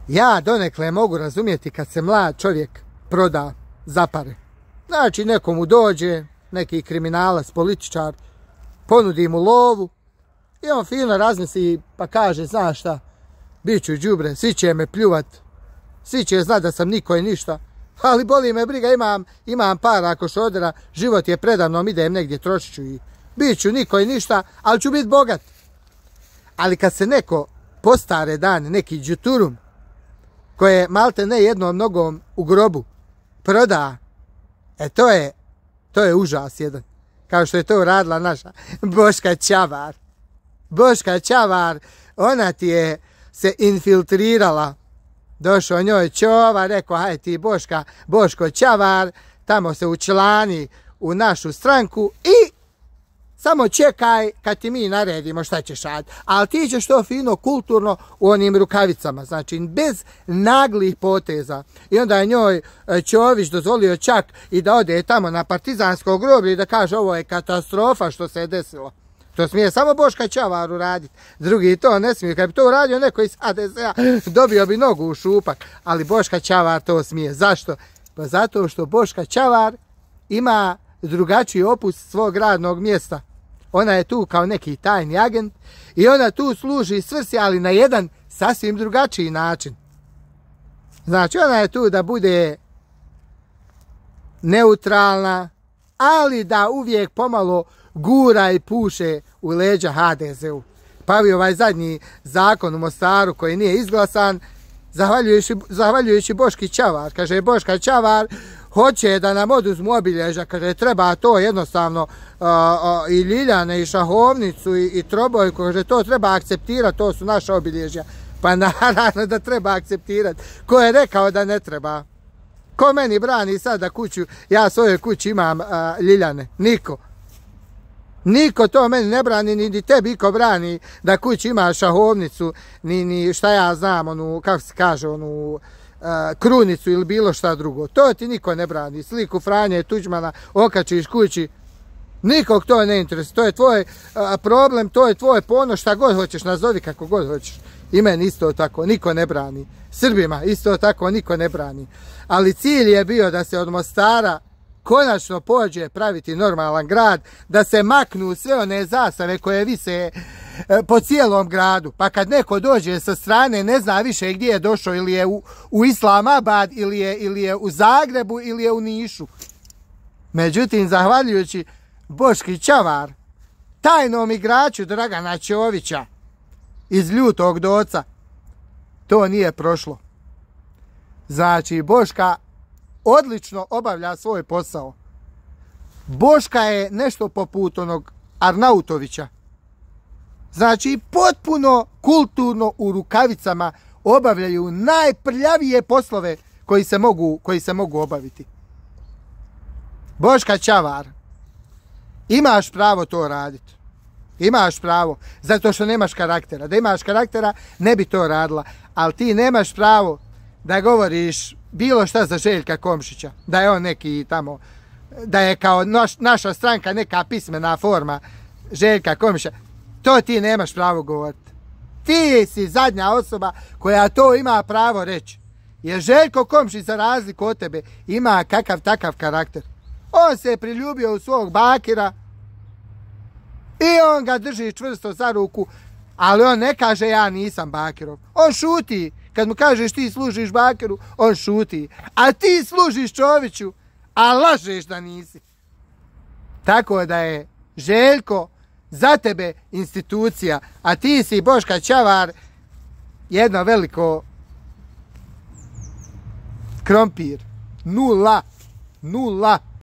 Ja donekle mogu razumjeti kad se mlad čovjek proda za pare. Znači nekomu dođe, neki kriminalac, političar, ponudi mu lovu i on fino razmisli pa kaže, znaš šta, bit ću đubre, svi će me pljuvat, svi će znat da sam niko i ništa, ali boli me briga, imam para ako šodera, život je predavnom, idem negdje, trošit ću i bit ću niko i ništa, ali ću bit bogat. Ali kad se neko postare dane, neki đuturum, koje malte ne jednom nogom u grobu proda, to je užas jedan. Kao što je to uradila naša Boška Čavar. Boška Čavar, ona ti je se infiltrirala. Došao njoj čova, rekao, haj ti Boško Čavar, tamo se učlani u našu stranku i samo čekaj kad ti mi naredimo šta ćeš raditi. Ali ti ćeš to fino, kulturno u onim rukavicama. Znači, bez naglih poteza. I onda je njoj Čović dozvolio čak i da ode tamo na partizansko groblje i da kaže ovo je katastrofa što se je desilo. To smije samo Boška Čavar uraditi. Drugi to ne smije. Kad bi to uradio neko iz HDZ-a, dobio bi nogu u šupak. Ali Boška Čavar to smije. Zašto? Pa zato što Boška Čavar ima drugačiji opus svog radnog mjesta. Ona je tu kao neki tajni agent i ona tu služi svrsi, ali na jedan sasvim drugačiji način. Znači, ona je tu da bude neutralna, ali da uvijek pomalo gura i puše u leđa HDZ-u. Pa bi ovaj zadnji zakon u Mostaru koji nije izglasan, zahvaljujući Boški Čavar. Kaže, Boška Čavar hoće da nam oduzmu obilježja, kaže, treba to jednostavno i Ljiljane, i Šahovnicu, i Trobojku, kaže, to treba akceptirati, to su naša obilježja. Pa naravno da treba akceptirati. Ko je rekao da ne treba? Ko meni brani sad da kuću, ja svojoj kući imam Ljiljane? Niko. Niko to meni ne brani, ni tebi iko brani da kući imaš Šahovnicu, ni šta ja znam, onu, kako se kaže, onu krunicu ili bilo šta drugo. To ti niko ne brani. Sliku Franje Tuđmana okačiš kući, nikog to ne interesuje. To je tvoj problem, to je tvoj ponos, šta god hoćeš, nazovi kako god hoćeš. I meni isto tako, niko ne brani. Srbima isto tako, niko ne brani. Ali cilj je bio da se od Mostara konačno pođe praviti normalan grad, da se maknu sve one zastave koje vise po cijelom gradu. Pa kad neko dođe sa strane, ne zna više gdje je došao, ili je u Islamabad, ili je u Zagrebu, ili je u Nišu. Međutim, zahvaljujući Boški Čavar, tajnom igraču Dragana Čovića iz Ljutog Doca, to nije prošlo. Znači, Boška odlično obavlja svoj posao. Boška je nešto poput onog Arnautovića. Znači, potpuno kulturno u rukavicama obavljaju najprljavije poslove koji se mogu obaviti. Boška Čavar, imaš pravo to raditi. Imaš pravo, zato što nemaš karaktera. Da imaš karaktera, ne bi to radila. Ali ti nemaš pravo da govoriš bilo šta za Željka Komšića, da je on neki tamo, da je kao naša stranka neka pismena forma Željka Komšića. To ti nemaš pravo govoriti. Ti si zadnja osoba koja to ima pravo reći. Jer Željko Komšić, za razliku od tebe, ima kakav takav karakter. On se je priljubio u svog bakira i on ga drži čvrsto za ruku, ali on ne kaže ja nisam bakirov. On šuti. Kad mu kažeš ti služiš bakiru, on šuti. A ti služiš Čoviću, a lažeš da nisi. Tako da je Željko za tebe institucija, a ti si Boška Čavar jedno veliko krompir. Nula.